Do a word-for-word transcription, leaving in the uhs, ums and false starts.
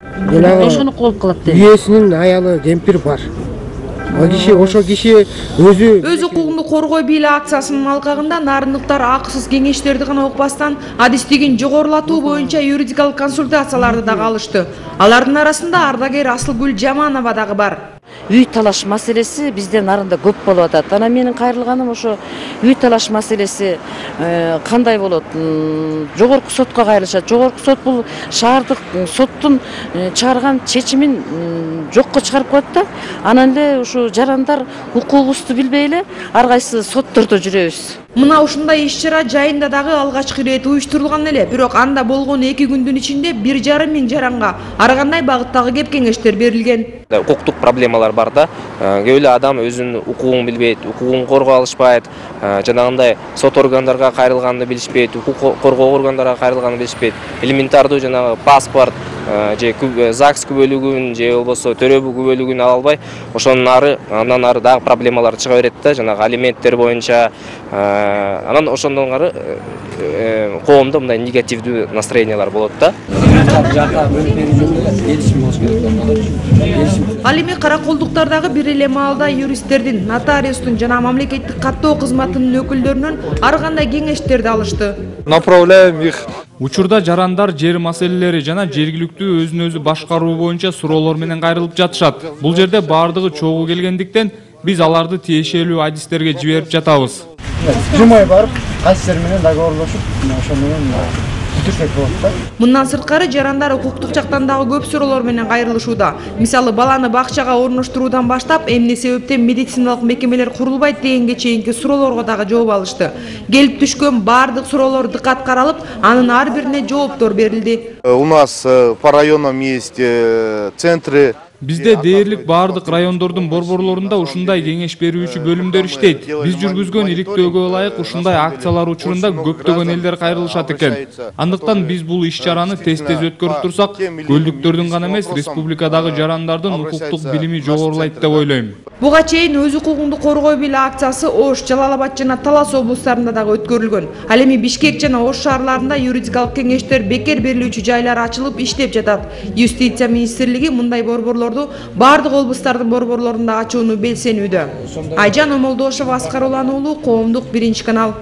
Ошону кылып калат дейм. Үйесинин аялы кемпир бар. О киши, ошо киши өзү Өз укугуңду коргой бийле акциясынын алкагында нарындыктар акысыз кеңештерди гана укпастан адистигин жогорулатуу боюнча юридикалык консультацияларды дагы алышты. Алардын арасында ардагер Асылгүл Жаманова дагы бар. Үй талаш маселеси бизде нарында көп болуп атат. Анан менин кайрылганым ошо үй талаш маселеси кандай болот? Жогорку сотко кайрылышат. Жогорку сот бул шаардык соттун чыгарган чечимин жокко чыгарып коет да. Анан эле ушу жарандар укугубузду билбей эле ар кайсы соттордо жүрөбүз. Мына ушундай иш-чара жайында дагы алгачкы ирет уюштурулган эле, бирок анда болгон эки күндүн ичинде бир жарым миң жаранга ар кандай багыттагы кеп кеңештер берилген. Укуктук проблемалар бар да. Көп эле адам өзүнүн укугун билбейт, укугун коргой алышпайт, жанагындай сот органдарга кайрылганды билишпейт, укук коргоо органдарына кайрылганды билишпейт. Элементардуу жанагы паспорт же ЗАГС күбөлүгүн же болбосо төрөбү күбөлүгүн ала албай, ошонун ары андан ары дагы проблемалар чыга берет да, жанагы алименттер боюнча. Анан ошондон ары коомдо мындай негативдүү настроениялар болот да. Ал эми караколдуктардагы бир эле маалда юристтердин, нотариустун жана мамлекеттик каттоо кызматынын өкүлдөрүнөн ар кандай кеңештерди алышты. Направляем их. Учурда жарандар жер маселелери жана жергиликтүү өзүн өзү башкаруу боюнча суроолор менен кайрылып жатышат. Бул жерде баардыгы чогуу келгендиктен биз аларды тиешелүү адистерге жиберип жатабыз. Жумай барып, кайсылар менен договорлошуп, ошо менен бүтүрсөк болот да. Мындан сырткары жарандар укуктук жактан дагы көп суроолор менен кайрылышууда. Мисалы, баланы бакчага орноштуруудан баштап, эмне себептен медициналык мекемелер курулбайт дегенге чейинки суроолорго дагы жооп алышты. Келип түшкөн баардык суроолор дыккат каралып, анын ар бирине жооптор берилди. У нас по районам есть центры. Бизде дээрлик баардык райондордун борборлорунда ушундай кеңеш берүүчү бөлүмдөр иштейт. Биз жүргүзгөн иликтөөгө ылайык ушундай акциялар учурунда көптөгөн элдер кайрылышат экен. Андыктан биз бул иш-чараны тез-тез өткөрүп турсак, көлдүктөрдүн гана эмес, республикадагы жарандардын укуктук билими жогорулайт деп ойлойм. Буга чейин өз укугуңду коргой бийле акциясы Ош, Жалал Абад жана Талас облустарында дагы өткөрүлгөн. Ал эми Бишкек жана Ош шаарларында юридикалык кеңештер бекер берилүүчү жайлар ачылып иштеп жатат. Юстиция министрлиги мындай борборлорду бардык облустардын борборлорунда ачууну белсенүүдө. Айжан Омолдошова, Аскар Улан уулу, Коомдук биринчи канал.